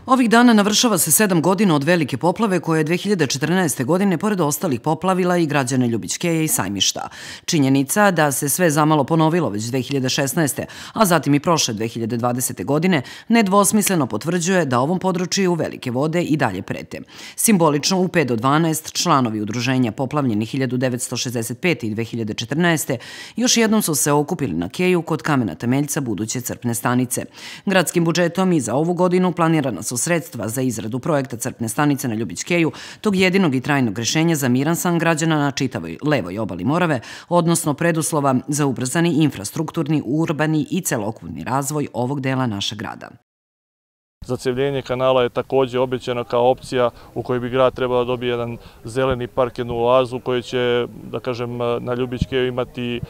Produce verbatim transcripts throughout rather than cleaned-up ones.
Ovih dana navršava se sedam godina od velike poplave koje je dve hiljade četrnaeste. godine pored ostalih poplavila i građane Ljubićkeja i Sajmišta. Činjenica da se sve zamalo ponovilo već dve hiljade šesnaeste. a zatim i prošle dve hiljade dvadesete. godine nedvosmisleno potvrđuje da ovom području velike vode i dalje prete. Simbolično u pet do dvanaest članovi udruženja poplavljeni hiljadu devetsto šezdeset pete. i dve hiljade četrnaeste. još jednom su se okupili na keju kod kamena temeljca buduće crpne stanice. Gradskim budžetom i za ovu godinu planirana su sredstva za izradu projekta crpne stanice na Ljubićkeju, tog jedinog i trajnog rešenja za miran san građana na čitavoj levoj obali Morave, odnosno preduslova za ubrzani infrastrukturni, urbani i celokupni razvoj ovog dela našeg grada. Zacevljenje kanala je također obećano kao opcija u kojoj bi grad trebao da dobije jedan zeleni park, jednu oazu koji će, da kažem, na Ljubićkeju imati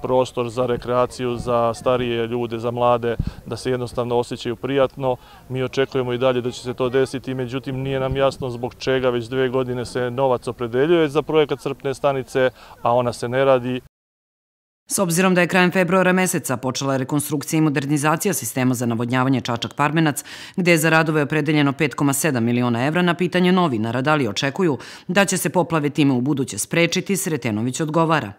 prostor za rekreaciju, za starije ljude, za mlade, da se jednostavno osjećaju prijatno. Mi očekujemo i dalje da će se to desiti, međutim nije nam jasno zbog čega već dve godine se novac opredeljuje za projekat crpne stanice, a ona se ne radi. S obzirom da je krajem februara meseca počela rekonstrukcija i modernizacija sistema za navodnjavanje Čačak-Parmenac, gde je za radove opredeljeno pet zarez sedam miliona evra, na pitanje novinara da li očekuju da će se poplave time u buduće sprečiti, Sretenović odgovara.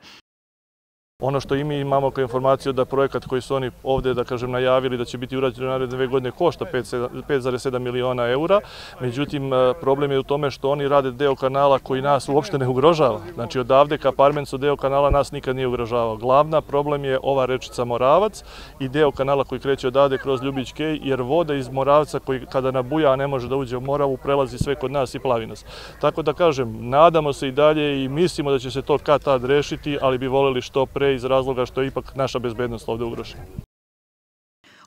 Ono što i mi imamo kao informaciju da projekat koji su oni ovde, da kažem, najavili da će biti urađen u naredne dve godine košta pet zarez sedam miliona eura. Međutim, problem je u tome što oni rade deo kanala koji nas uopšte ne ugrožava. Znači, odavde ka Parmencu deo kanala nas nikad nije ugrožavao. Glavna problem je ova rečica Moravac i deo kanala koji kreće odavde kroz Ljubićkej, jer voda iz Moravca koji kada nabuja, a ne može da uđe u Moravu, prelazi sve kod nas i plavi nas. Tako da kažem, nadamo se i dalje i mislimo da će se to kad tad rešiti, ali bi voljeli što pre iz razloga što je ipak naša bezbednost ovde ugrožena.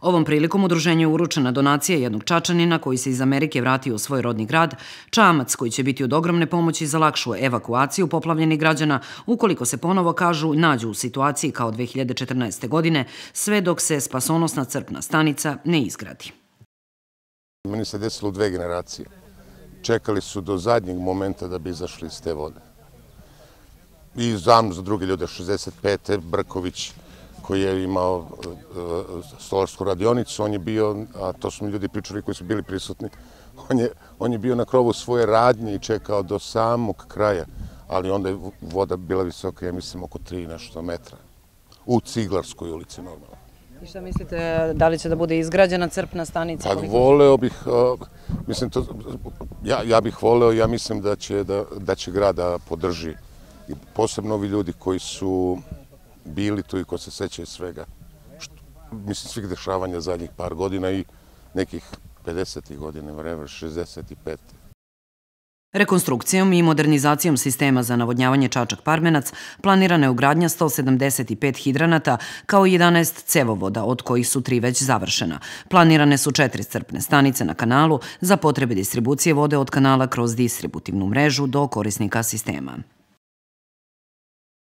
Ovom prilikom udruženju je uručena donacija jednog Čačanina koji se iz Amerike vratio u svoj rodni grad, čamac koji će biti od ogromne pomoći za lakšu evakuaciju poplavljenih građana ukoliko se ponovo, kažu, nađu u situaciji kao dve hiljade četrnaeste. godine, sve dok se spasonosna crpna stanica ne izgradi. Meni se desilo u dve generacije. Čekali su do zadnjeg momenta da bi izašli iz te vode. I znam za druge ljude, šezdeset pete. Brković koji je imao stolarsku radionicu, on je bio, a to su mi ljudi pričali koji su bili prisutni, on je, on je bio na krovu svoje radnje i čekao do samog kraja, ali onda je voda bila visoka, ja mislim, oko tri nešto metra. U Ciglarskoj ulici normalno. I šta mislite, da li će da bude izgrađena crpna stanica? Pa voleo bih, mislim, to, ja, ja bih voleo, ja mislim da će, da, da će grad da podrži. I posebno ovi ljudi koji su bili tu i ko se sećaju svega, što, mislim, svih dešavanja zadnjih par godina i nekih pedesetih godina, vreme, šezdeset pet. Rekonstrukcijom i modernizacijom sistema za navodnjavanje Čačak-Parmenac planirana je ugradnja sto sedamdeset pet hidranata kao i jedanaest cevovoda, od kojih su tri već završena. Planirane su četiri crpne stanice na kanalu za potrebe distribucije vode od kanala kroz distributivnu mrežu do korisnika sistema.